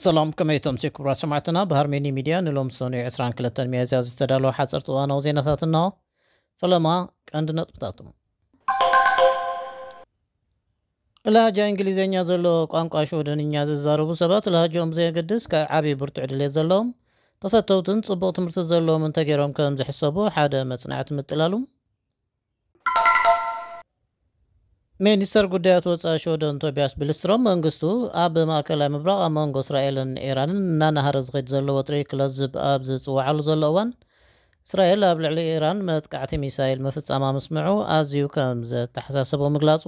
ሰላም፣ ከመይ ተምሲ ክቡራት ሰማዕትና? ብሃርሜኒ ሚድያ ንሎም ሰኑይ ዕስራን ክልተን ሚያዝያ ዝተዳለወ ሓፀርቲ እዋናዊ ዜናታት እናሆ። ፈለማ ቀንዲ ነጥብታቶም። ላሃጃ እንግሊዝኛ ዘለዎ ቋንቋ ሽወደንኛ ዝዛረቡ ሰባት፣ ላሃጃኦም ብዘየገድስ፣ ካብ ዓብዪ ብርቱዕ ድሌት ዘለዎም፣ ተፈተውትን ጽቡቕ ትምህርቲ ዘለዎም እንተገይሮም ከም ዝሕሰቡ ሓደ መጽናዕቲ ምጥላሉ። ሚኒስተር ጉዳያት ወጻኢ ሽወደን ቶቢያስ ቢልስትሮም፣ መንግስቱ ኣብ ማእከላይ ምብራቕ ኣብ መንጎ እስራኤልን ኢራንን እናናሃረ ዝኸይድ ዘሎ ወጥሪ ክለዝብ ኣብ ዝጽውዓሉ ዘሎ እዋን፣ እስራኤል ኣብ ልዕሊ ኢራን መጥቃዕቲ ሚሳይል ምፍጻማ ምስምዑ ኣዝዩ ከም ዘተሓሳሰቦ ምግላጹ።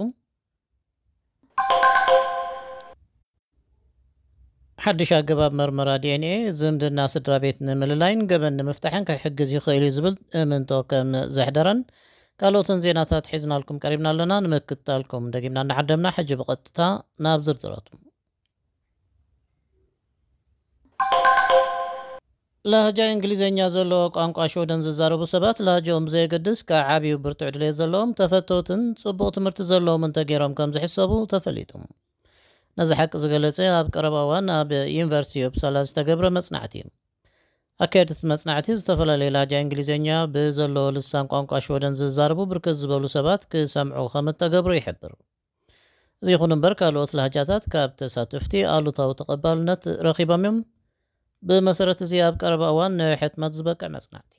ሓድሽ ኣገባብ መርመራ ዲ ኤን ኤ ዝምድና ስድራ ቤት ንምልላይን ገበን ንምፍታሕን ክሕግዝ ይኽእል እዩ ዝብል እምንቶ ከም ዘሕደረን ካልኦትን ዜናታት ሒዝናልኩም ቀሪብና ኣለና። ንምክትታልኩም ደጊምና እናዓደምና፣ ሕጂ ብቐጥታ ናብ ዝርዝራቱ። ላህጃ እንግሊዝኛ ዘለዎ ቋንቋ ሽወደን ዝዛረቡ ሰባት፣ ላህጃኦም ብዘየገድስ፣ ካብ ዓብዩ ብርቱዕ ድሌት ዘለዎም፣ ተፈተውትን ጽቡቕ ትምህርቲ ዘለዎም እንተገይሮም ከም ዝሕሰቡ ተፈሊጡ። ነዚ ሓቂ ዝገለጸ ኣብ ቀረባ እዋን ኣብ ዩኒቨርሲቲ ኡፕሳላ ዝተገብረ መጽናዕቲ እዩ። ኣካየድቲ መጽናዕቲ፣ ዝተፈላለዩ ላህጃ እንግሊዝኛ ብዘለዎ ልሳን ቋንቋ ሽወደን ዝዛረቡ ብርክት ዝበሉ ሰባት ክሰምዑ ከም እተገብሩ ይሕብር። እዚ ይኹን እምበር፣ ካልኦት ላህጃታት ካብ ተሳተፍቲ ኣሉታዊ ተቐባልነት ረኺቦም እዮም። ብመሰረት እዚ፣ ኣብ ቀረባ እዋን ንሕትመት ዝበቅዕ መጽናዕቲ።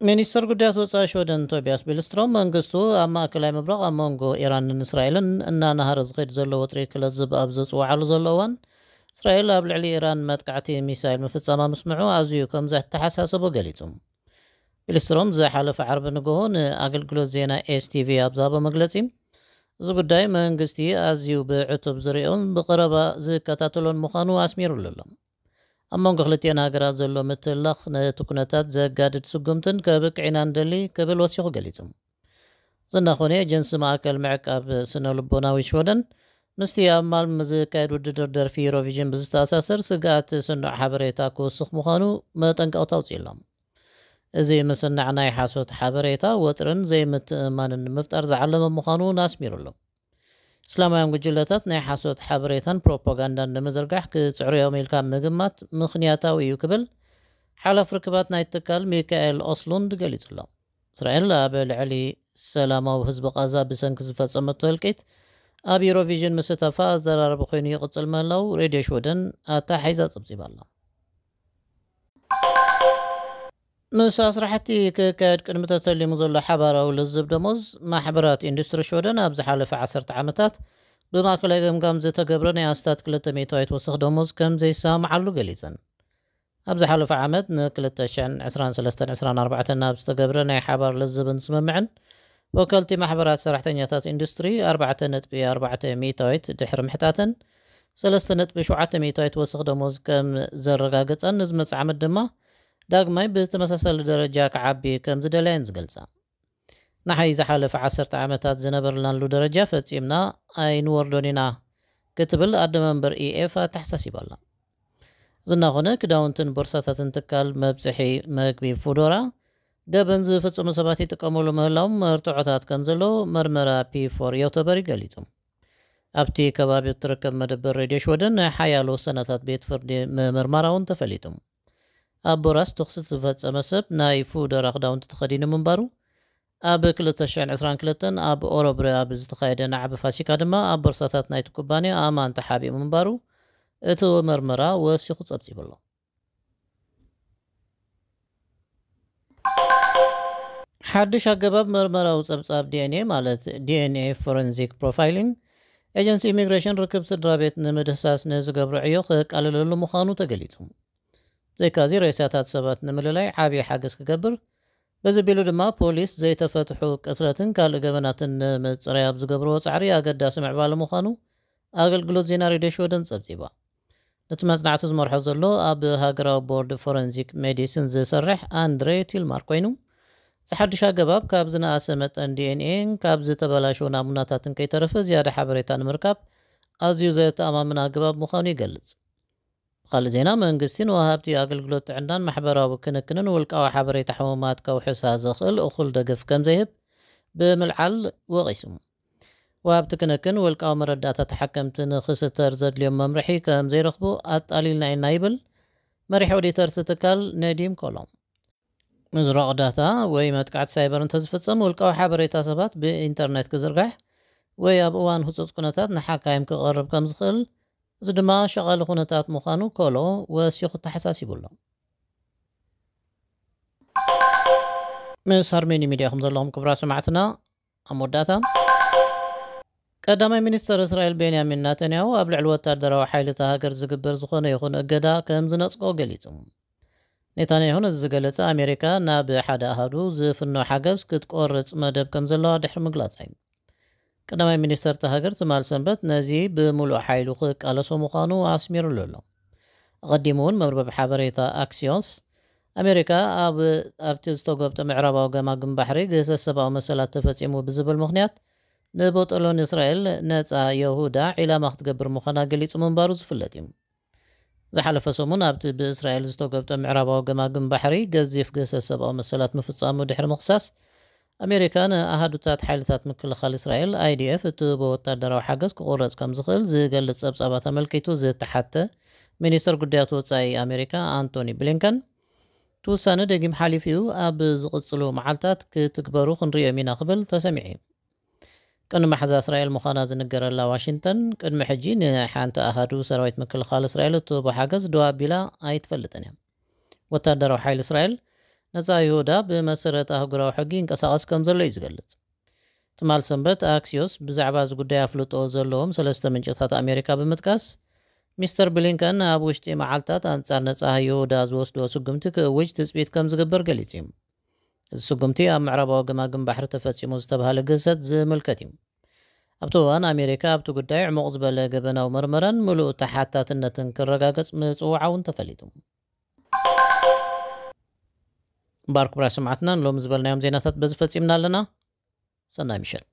ሚኒስትር ጉዳያት ወጻኢ ሽወደን ቶቢያስ ቢልስትሮም፣ መንግስቱ ኣብ ማእከላይ ምብራቕ ኣብ መንጎ ኢራንን እስራኤልን እናናሃረ ዝኸይድ ዘሎ ወጥሪ ክለዝብ ኣብ ዘጽውዓሉ ዘሎ እዋን፣ እስራኤል ኣብ ልዕሊ ኢራን መጥቃዕቲ ሚሳይል ምፍጻማ ምስምዑ ኣዝዩ ከም ዘተሓሳሰቦ ገሊጹ። ቢልስትሮም ዝሓለፈ ዓርቢ ንግሆ ንኣገልግሎት ዜና ኤስ ቲ ቪ ኣብ ዝሃቦ መግለጺ፣ እዚ ጉዳይ መንግስቲ ኣዝዩ ብዕቱብ ዝሪኦን ብቐረባ ዝከታተሎን ምዃኑ ኣስሚሩሉ ኣሎ። ኣብ መንጎ ክልቲአን ሃገራት ዘሎ ምትላኽ ነቲ ኩነታት ዘጋድድ ስጉምትን ከብቅዕ ኢና ንደሊ ክብል ወሲኹ ገሊጹ። እዚ እናኾነ፣ ኤጀንሲ ማእከል ምዕቃብ ስነ ልቦናዊ ሽወደን ምስቲ ኣብ ማልም ዝካየድ ውድድር ደርፊ ዩሮቪዥን ብዝተኣሳሰር ስግኣት ስኑዕ ሓበሬታ ክውስኽ ምዃኑ መጠንቀቕታ ኣውጺኡ ኣሎ። እዚ ምስናዕ ናይ ሓሶት ሓበሬታ ወጥርን ዘይምትእምማንን ንምፍጣር ዝዓለመ ምዃኑ እውን ኣስሚሩ ኣሎ። እስላማውያን ጉጅለታት ናይ ሓሶት ሓበሬታን ፕሮፓጋንዳን ንምዝርጋሕ ክጽዕሩ እዮም ኢልካ ምግማት ምኽንያታዊ እዩ ክብል ሓላፊ ርክባት ናይ ትካል ሚካኤል ኦስሉንድ ገሊጹ ኣሎ። እስራኤል ኣብ ልዕሊ ሰላማዊ ህዝቢ ቃዛ ብሰንኪ ዝፈጸመቶ ህልቂት ኣብ ዩሮቪዥን ምስታፋ ኣዘራረቢ ኮይኑ ይቕጽል ምህላው ሬድዮ ሽወደን ኣተሓሒዛ ጸብጺባ ኣላ። ምስ ኣስራሕቲ ክካየድ ቅድሚ ተተሊሙ ዘሎ ሓባራዊ ልዝብ ደሞዝ፣ ማሕበራት ኢንዱስትሪ ሽወደን ኣብ ዝሓለፈ ዓሰርተ ዓመታት ብማእከላይ ገምጋም ዝተገብረ ናይ ኣስታት ክልተ ሚእታዊት ወሰኽ ደሞዝ ከም ዘይሰማምዓሉ ገሊጸን። ኣብ ዝሓለፈ ዓመት ን ክልተ ሽሕን ዕስራን ሰለስተን ዕስራን ኣርባዕተን ኣብ ዝተገብረ ናይ ሓባር ልዝብን ስምምዕን፣ ወከልቲ ማሕበራት ሰራሕተኛታት ኢንዱስትሪ ኣርባዕተ ነጥቢ ኣርባዕተ ሚእታዊት ድሕሪ ምሕታተን፣ ሰለስተ ነጥቢ ሸውዓተ ሚእታዊት ወሰኽ ደሞዝ ከም ዘረጋገጸን፣ ንዝመጽእ ዓመት ድማ ዳግማይ ብተመሳሳሊ ደረጃ ክዓቢ ከም ዝደለየን ዝገልጻ። ንሓይ ዝሓለፈ ዓሰርተ ዓመታት ዝነበርናሉ ደረጃ ፈጺምና ኣይንወርዶን ኢና ክትብል ኣደ መንበር ኢ ኤፍ ኣተሓሳሲባ ኣላ። ዝናኾነ ክዳውንትን ቦርሳታትን ትካል መብጽሒ መግቢ ፉዶራ፣ ገበን ዝፍጽሙ ሰባት ይጥቀሙሉ ምህላዎም መርትዖታት ከም ዘለዎ መርመራ ፒ ፎር ዮቶበሪ ገሊጹ። ኣብቲ ከባቢ እትርከብ መደበር ሬድዮ ሽወደን ናይ ሓያሎ ሰነታት ቤት ፍርዲ ምምርማራ እውን ተፈሊጡ። ኣብ ቦራስ ተኹሲ ዝፈጸመ ሰብ ናይ ፉደራ ክዳውንቲ ተኸዲኑ ምንባሩ፣ ኣብ ክልተ ሽሕን ዕስራን ክልተን ኣብ ኦረብረ ኣብ ዝተኻየደ ናዕቢ ፋሲካ ድማ ኣብ ቦርሳታት ናይቲ ኩባንያ ኣእማን ተሓቢኡ ምንባሩ እቲ መርመራ ወሲኹ ጸብጺቡ ኣሎ። ሓድሽ ኣገባብ መርመራዊ ጸብጻብ ዲ ኤን ኤ፣ ማለት ዲ ኤን ኤ ፎረንሲክ ፕሮፋይሊንግ፣ ኤጀንሲ ኢሚግሬሽን ርክብ ስድራ ቤት ንምድህሳስ ንዝገብሮ ዕዮ ከቃልለሉ ምዃኑ ተገሊጹ። ብዘይካዚ፣ ሬሳታት ሰባት ንምልላይ ዓብዪ ሓገዝ ክገብር፣ በዚ ቢሉ ድማ ፖሊስ ዘይተፈትሑ ቅትለትን ካልእ ገበናትን ንምጽራይ ኣብ ዝገብርዎ ጻዕሪ ኣገዳሲ ምዕባለ ምዃኑ ኣገልግሎት ዜና ሬድዮ ሽወደን ጸብጺባ። ነቲ መጽናዕቲ ዝመርሖ ዘሎ ኣብ ሃገራዊ ቦርድ ፎረንሲክ ሜዲሲን ዝሰርሕ ኣንድሬ ቲልማር ኮይኑ፣ እዚ ሓድሽ ኣገባብ ካብ ዝነኣሰ መጠን ዲ ኤን ኤን ካብ ዝተበላሸዉ ናሙናታትን ከይተረፈ ዝያዳ ሓበሬታ ንምርካብ ኣዝዩ ዘተኣማምን ኣገባብ ምዃኑ ይገልጽ። ብኻልእ ዜና፣ መንግስቲ ንወሃብቲ ኣገልግሎት ጥዕናን ማሕበራዊ ክንክንን ውልቃዊ ሓበሬታ ሕሙማት ከውሕሳ ዘኽእል እኹል ደገፍ ከም ዘይህብ ብምልዓል ወቒሱ። ብወሃብቲ ክንክን ውልቃዊ መረዳእታ ተሓከምቲ ንክስተር ዘድልዮም መምርሒ ከም ዘይረኽቡ ኣጣሊልና ኢና ይብል መሪሕ ኦዲተር እቲ ትካል ነዲም ኮሎም። ምዝራቕ ዳታ ወይ መጥቃዕቲ ሳይበር እንተዝፍጸም ውልቃዊ ሓበሬታ ሰባት ብኢንተርኔት ክዝርጋሕ ወይ ኣብ እዋን ህጹጽ ኩነታት ንሓካይም ክቐርብ ከም ዝኽእል፣ እዚ ድማ ሸቓሊ ኩነታት ምዃኑ ኮሎ ወሲኹ ተሓሳሲቡ ኣሎ። ምስ ሃርሜኒ ሚድያ ከም ዘለኹም ክብራ ሰማዕትና ኣብ መወዳእታ ቀዳማይ ሚኒስተር እስራኤል ቤንያሚን ናተንያሁ ኣብ ልዕሊ ወታደራዊ ሓይልታ ሃገር ዝግበር ዝኾነ ይኹን እገዳ ከም ዝነጽጎ ገሊጹ። ኔታንያሁ ነዚ ዝገለጸ ኣሜሪካ ናብ ሓደ ኣሃዱ ዝፍኖ ሓገዝ ክትቆርጽ መደብ ከም ዘለዋ ድሕሪ ምግላጻ እዩ። ቀዳማይ ሚኒስተር እታ ሃገር ትማል ሰንበት ነዚ ብምሉእ ሓይሉ ክቃለሶ ምዃኑ ኣስሚሩሉ ኣሎ። ኣቐዲሙ እውን መርበብ ሓበሬታ ኣክሲዮስ ኣሜሪካ ኣብ ኣብቲ ዝተጎብጠ ምዕራባዊ ገማግም ባሕሪ ግህሰት ሰብኣዊ መሰላት ተፈጺሙ ብዝብል ምኽንያት ንቦጦሎን እስራኤል ነጻ የሁዳ ዒላማ ክትገብር ምዃና ገሊጹ ምንባሩ ዝፍለጥ እዩ። ዝሓለፈ ሰሙን ኣብቲ ብእስራኤል ዝተጎብጠ ምዕራባዊ ገማግም ባሕሪ ገዚፍ ግህሰት ሰብኣዊ መሰላት ምፍጻሙ ድሕሪ ምኽሳስ ኣሜሪካ ንኣሃዱታት ሓይልታት ምክልኻል እስራኤል ኣይዲኤፍ እትህቦ ወታደራዊ ሓገዝ ክቑረጽ ከም ዝኽእል ዝገልጽ ጸብጻባት ኣመልኪቱ ዝተሓተ ሚኒስተር ጉዳያት ወጻኢ ኣሜሪካ ኣንቶኒ ብሊንከን እቲ ውሳነ ደጊም ሓሊፉ እዩ፣ ኣብ ዝቕጽሉ መዓልታት ክትግበሩ ክንርእዮም ኢና ክብል ተሰሚዑ እዩ። ቅድሚ መሓዛ እስራኤል ምዃና ዝንገረላ ዋሽንግተን ቅድሚ ሕጂ ንሓንቲ ኣሃዱ ሰራዊት ምክልኻል እስራኤል እትህቦ ሓገዝ ደው ኣቢላ ኣይትፈልጥን እያ። ወታደራዊ ሓይሊ እስራኤል ነጻ ይሁዳ ብመሰረት ኣህጉራዊ ሕጊ ይንቀሳቐስ ከም ዘሎ እዩ ዝገልጽ። ትማል ሰንበት ኣክሲዮስ ብዛዕባ እዚ ጉዳይ ኣፍልጦ ዘለዎም ሰለስተ ምንጭታት ኣሜሪካ ብምጥቃስ ሚስተር ብሊንከን ኣብ ውሽጢ መዓልታት ኣንጻር ነጻ ይሁዳ ዝወስዶ ስጉምቲ ክእውጅ ትጽቢት ከም ዝግበር ገሊጹ እዩ። እዚ ስጉምቲ ኣብ ምዕራባዊ ገማግም ባሕሪ ተፈጺሙ ዝተባህለ ግህሰት ዝምልከት እዩ። ኣብቲ እዋን ኣሜሪካ ኣብቲ ጉዳይ ዕሙቕ ዝበለ ገበናዊ መርመራን ምሉእ ተሓታትነትን ክረጋገጽ ምጽውዓ እውን ተፈሊጡ። ባር ክቡራት ሰማዕትና ንሎሚ ዝበልናዮም ዜናታት በዚ ፈጺምና ኣለና። ሰናይ ምሸት።